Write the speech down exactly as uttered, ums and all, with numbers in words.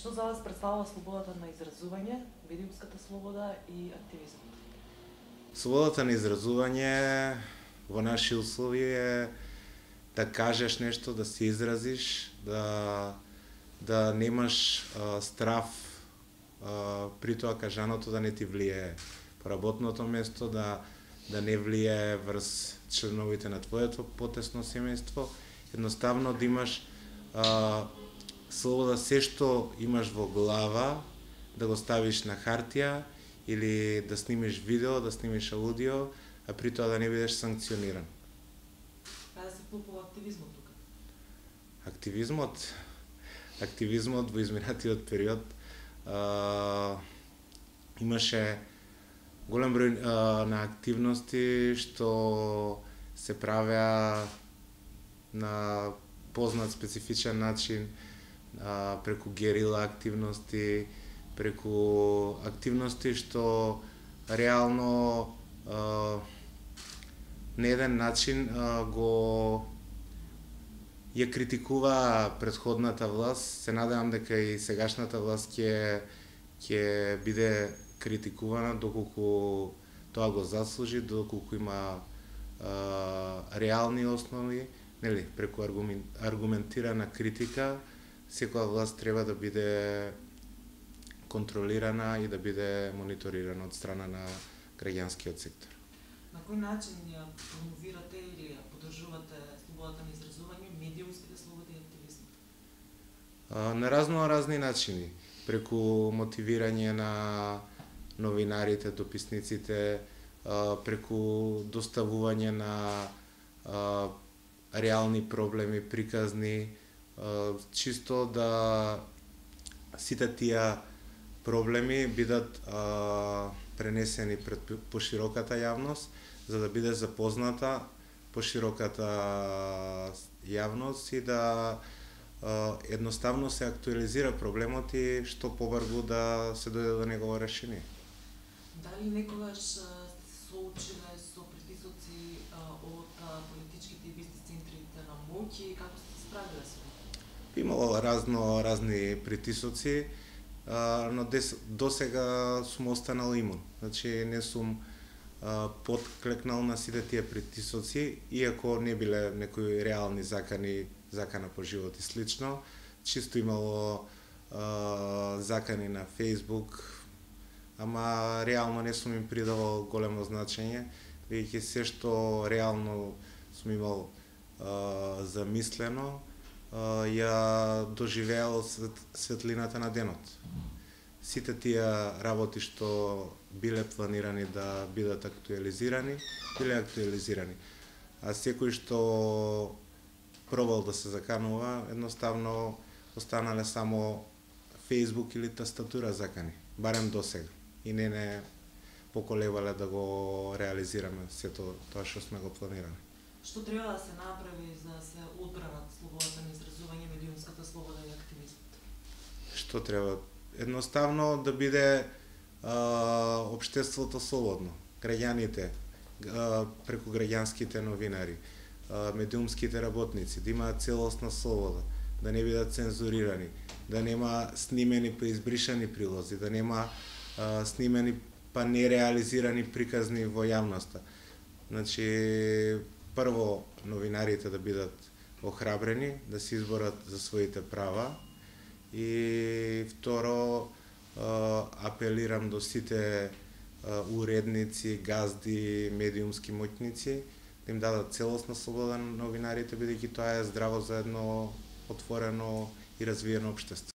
Што за вас представува слободата на изразување, медиумската слобода и активизмот? Слободата на изразување во наши услови е да кажеш нешто, да се изразиш, да да немаш а, страв а, при тоа кажаното да не ти влие по работното место, да да не влие врз членовите на твоето потесно семејство, едноставно да имаш а, слобода се што имаш во глава да го ставиш на хартија или да снимиш видео, да снимиш аудио, а при тоа да не бидеш санкциониран. Каде се вклопува активизмот тука? Активизмот, активизмот во изминатиот период а, имаше голем број а, на активности што се правеа на познат специфичен начин, а, преку герила активности, преку активности што реално а, на еден начин а, го ја критикува претходната власт. Се надевам дека и сегашната власт ќе ќе биде критикувана доколку тоа го заслужи, доколку има а, реални основи, нели, преку аргументирана критика, секоја власт треба да биде контролирана и да биде мониторирана од страна на граѓанскиот сектор. На кој начин ја промовирате или ја поддржувате слободата на изразување, медиумските слободи и активизмот? А, на разно разни начини, преку мотивирање на новинарите, дописниците, а, преку доставување на а, реални проблеми, приказни, а, чисто да сите тие проблеми бидат а, пренесени пред пошироката јавност, за да биде запозната пошироката јавност и да а, едноставно се актуализира проблемот и што побрзо да се дојде до негово решение. Дали некогаш сте соочиле со притисоци од политичките и бизнис центрите на моќ и како сте се справиле со тоа? Имало разно разни притисоци, а, но дес, досега сум останал имун. Значи не сум а, подклекнал на сите тие притисоци, иако не биле некои реални закани, закана по живот и слично. Чисто имало а, закани на Facebook, ама реално не сум им придавал големо значење, веќе се што реално сум имал а, замислено, а, ја доживеал свет, светлината на денот. Сите тие работи што биле планирани да бидат актуализирани, биле актуализирани. А секој што пробал да се заканува, едноставно останале само Facebook или тастатура закани, барем досега. И не не поколебале да го реализираме сето тоа што сме го планирали. Што треба да се направи за да се одбранат слободата на изразување, медиумската слобода и активизмот? Што треба? Едноставно да биде а, општеството слободно. Граѓаните, а, преку граѓанските новинари, а, медиумските работници, да имаат целосна слобода, да не бидат цензурирани, да нема снимени па избришани прилози, да нема а, снимени па нереализирани приказни во јавноста. Значи, прво новинарите да бидат охрабрени, да се изборат за своите права и второ апелирам до сите уредници, газди, медиумски моќници да им дадат целосна слобода на новинарите, бидејќи тоа е здраво за едно отворено и развиено општество.